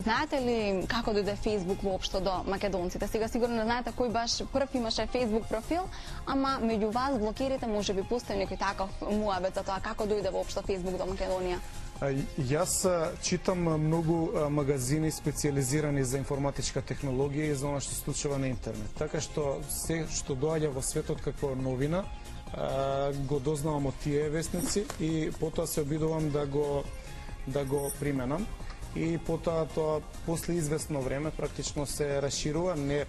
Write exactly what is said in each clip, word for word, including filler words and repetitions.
Знаете ли како дојде Facebook воопшто до македонците? Сега сигурно не знаете кој баш прв имаше Facebook профил, ама меѓу вас блогерите можеби постои некој таков муабет за тоа како дојде воопшто Facebook до Македонија. Јас читам многу магазини специализирани за информатичка технологија и за она што се случува на интернет. Така што се што доаѓа во светот како новина, го дознавам од тие вестници и потоа се обидувам да го да го применам. И потоа тоа после известно време практично се расширува, не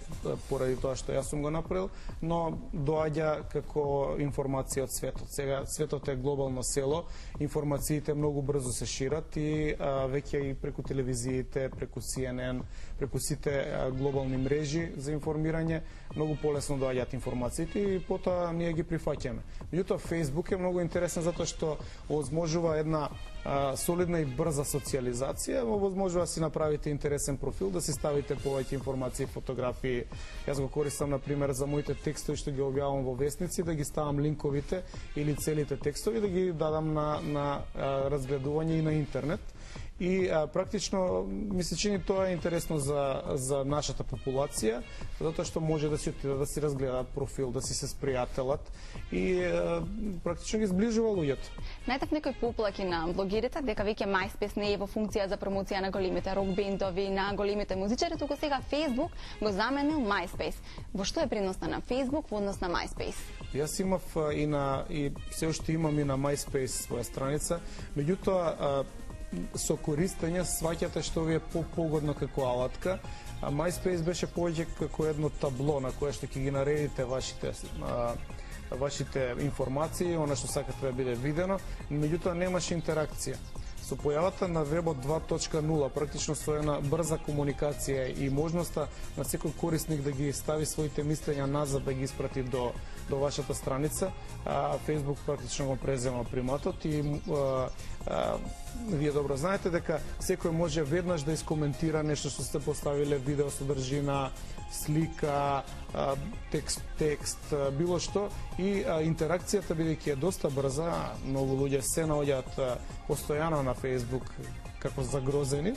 поради тоа што јас сум го направил, но доаѓа како информација од светот. Сега светот е глобално село, информациите многу брзо се шират и а, веќе и преку телевизиите, преку Си Ен Ен, преку сите а, глобални мрежи за информирање, многу полесно доаѓаат информациите и потоа ние ги прифаќаме. Меѓутоа Facebook е многу интересен затоа што овозможува една а, солидна и брза социјализација, возможува да си направите интересен профил, да си ставите повеќе информации, фотографии. Јас го користам, например, за моите текстови што ги објавам во вестници, да ги ставам линковите или целите текстови, да ги дадам на, на а, разгледување и на интернет. И а, практично ми се чини тоа е интересно за, за нашата популација, затоа што може да си отидат да си разгледаат профил, да си се спријателат и а, практично ги сближува луѓето. Најдов некои поплаки на блогерите дека веќе MySpace не е во функција за промоција на големите рок бендови, на големите музичари, туку сега Facebook го заменил MySpace. Во што е приносна на Facebook во однос на MySpace? Јас имав и на и се уште имам и на MySpace своја страница, меѓутоа со користење сваќате што ви е по-погодно како алатка, а MySpace беше повеќе како едно табло на кое што ќе ги наредите вашите а, вашите информации, она што сакате да биде видено, меѓутоа немаше интеракција. Со појавата на вебот два точка нула, практично со една брза комуникација и можноста на секој корисник да ги стави своите мислења назад, да ги испрати до, до вашата страница, а, Facebook практично го презема приматот и а, а, вие добро знаете дека секој може веднаш да искоментира нешто што сте поставиле, видео содржина, слика, текст, текст, било што, и интеракцијата бидејќи е доста брза, многу луѓе се наоѓаат постојано на Facebook како загрозени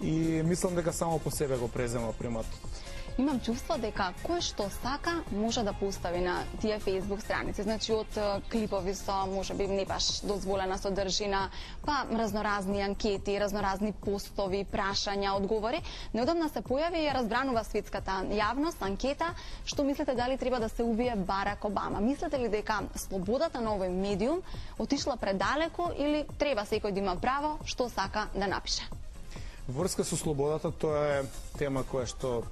и мислам дека само по себе го презема приматот. Имам чувство дека кој што сака може да постави на тие Facebook страници. Значи од клипови со можеби не баш дозволена содржина, па разноразни анкети, разноразни постови, прашања, одговори. Неодамна се појави и разбранува светската јавност анкета што мислите дали треба да се убие Барак Обама. Мислите ли дека слободата на овој медиум отишла предалеку или треба секој да има право што сака да напише? Врска со слободата тоа е тема која што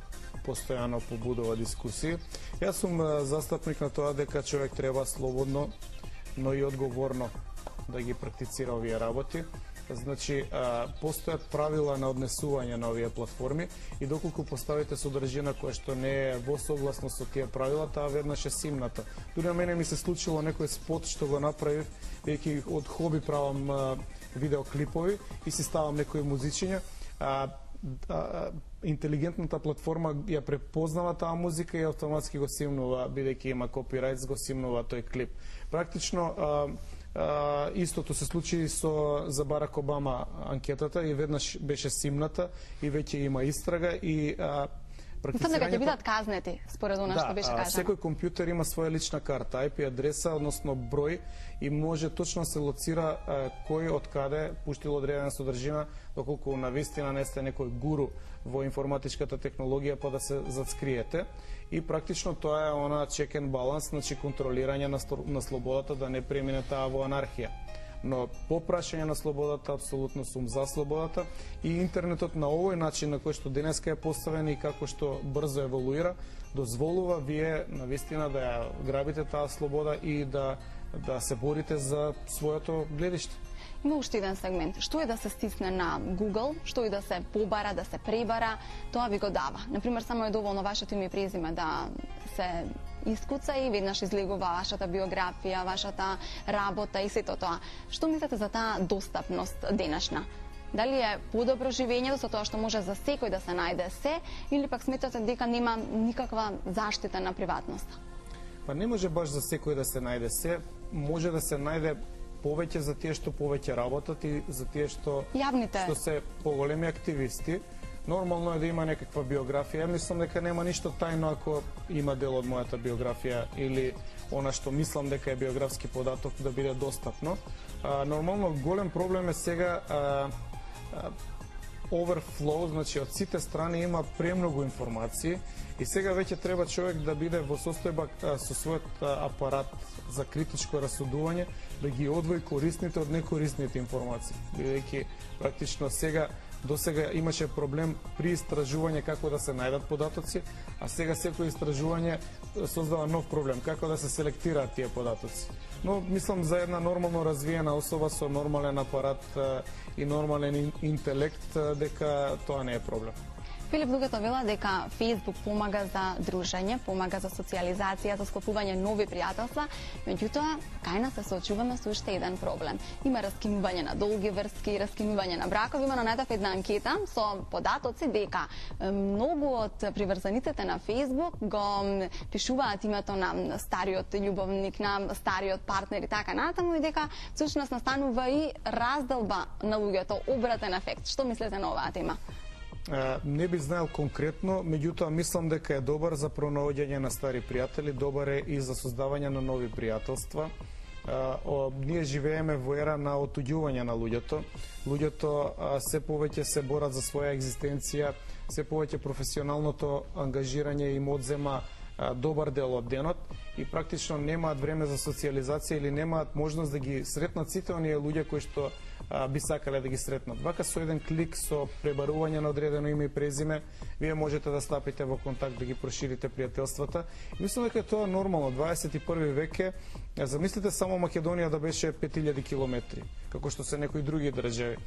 постојано побудува дискусии. Јас сум застапник на тоа дека човек треба слободно, но и одговорно да ги практицира овие работи. Значи, постојат правила на однесување на овие платформи и доколку поставите содржина која што не е во согласност со тие правила, таа веднаш е симната. Дури на мене ми се случило некој спот што го направив, веќе од хоби правам видеоклипови и си ставам некои музичиња. Интелигентната платформа ја препознава таа музика и автоматски го симнува, бидејќи има копирајт, го симнува тој клип. Практично а, а, истото се случи со за Барак Обама анкетата и веднаш беше симната и веќе има истрага и а, Мислам дека ќе бидат казнети, според она што беше кажано. Да, секој компјутер има своја лична карта, ај пи адреса, односно број, и може точно се лоцира а, кој од каде пуштил одредена содржина, доколку навистина не сте некој гуру во информатичката технологија, па да се зацкриете. И практично тоа е она check and balance, значи контролирање на, на слободата да не премине таа во анархија. Но по прашање на слободата, апсолутно сум за слободата и интернетот на овој начин на кој што денеска е поставен и како што брзо еволуира, дозволува вие навистина да ја грабите таа слобода и да, да се борите за своето гледиште. Има уште еден сегмент. Што е да се стисне на Google, што е да се побара, да се пребара, тоа ви го дава. Например, само е доволно вашето име и презиме да се искуца и веднаш излегува вашата биографија, вашата работа и сето тоа. Што мислите за таа достапност денешна? Дали е подобро живењето со тоа што може за секој да се најде се, или пак сметате дека нема никаква заштита на приватноста? Па не може баш за секој да се најде се, може да се најде повеќе за тие што повеќе работат и за тие што Јавните. што се поголеми активисти. Нормално е да има некаква биографија. Мислам дека нема ништо тајно ако има дел од мојата биографија или она што мислам дека е биографски податок да биде достапно. А, нормално голем проблем е сега а, а, overflow, значи од сите страни има премногу информации и сега веќе треба човек да биде во состојба со својот апарат за критичко расудување, да ги одвои корисните од некорисните информации. Бидејќи практично сега до сега имаше проблем при истражување како да се најдат податоци, а сега секој истражување создава нов проблем, како да се селектираат тие податоци. Но мислам за една нормално развиена особа со нормален апарат и нормален интелект дека тоа не е проблем. Филип Дугато вела дека Facebook помага за дружење, помага за социјализација, за склопување нови пријателства, меѓутоа кај нас се соочуваме со уште еден проблем. Има раскинување на долги врски, раскинување на бракови. Има најдов една анкета со податоци дека многу од приврзаниците на Facebook го пишуваат името на стариот љубовник, на стариот партнер и така натаму, и дека всушност настанува и разделба на луѓето, обратен ефект. Што мислите на оваа тема? Не би знаел конкретно, меѓутоа мислам дека е добар за пронаоѓање на стари пријатели, добар е и за создавање на нови пријателства. Ние живееме во ера на отуѓување на луѓето. Луѓето се повеќе се борат за своја екзистенција, се повеќе професионалното ангажирање им одзема добар дел од денот и практично немаат време за социјализација или немаат можност да ги сретнат сите оние луѓе кои што а, би сакале да ги сретнат. Вака со еден клик, со пребарување на одредено име и презиме, вие можете да стапите во контакт, да ги проширите пријателствата. И мислам дека тоа е нормално. дваесет и први век е. Замислите само Македонија да беше пет илјади километри, како што се некои други држави.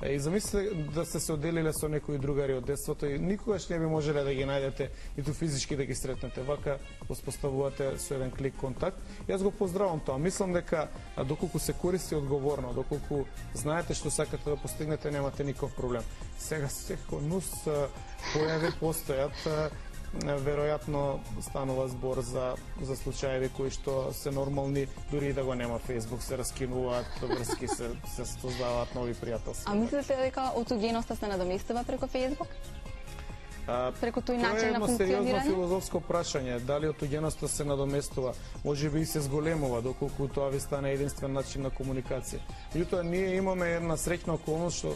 И замислите да сте се оделиле со некои другари од детството и никогаш не би можеле да ги најдете ниту физички да ги сретнете. Вака воспоставувате со еден клик контакт. Јас го поздравам тоа. Мислам дека доколку се користи одговорно, доколку знаете што сакате да постигнете, немате никаков проблем. Сега секој нус појави постојат, веројатно станува збор за за случаеви кои што се нормални, дури и да го нема Facebook, се раскинуваат врски, се се создаваат нови пријателства. А мислите дека отуѓеноста се надоместува преку Facebook? Преку тој начин на функционирање? Тоа е едно сериозно филозофско прашање. Дали отуѓеноста се надоместува? Може би и се зголемува, доколку тоа ви стане единствен начин на комуникација. Меѓутоа, ние имаме една среќна околност што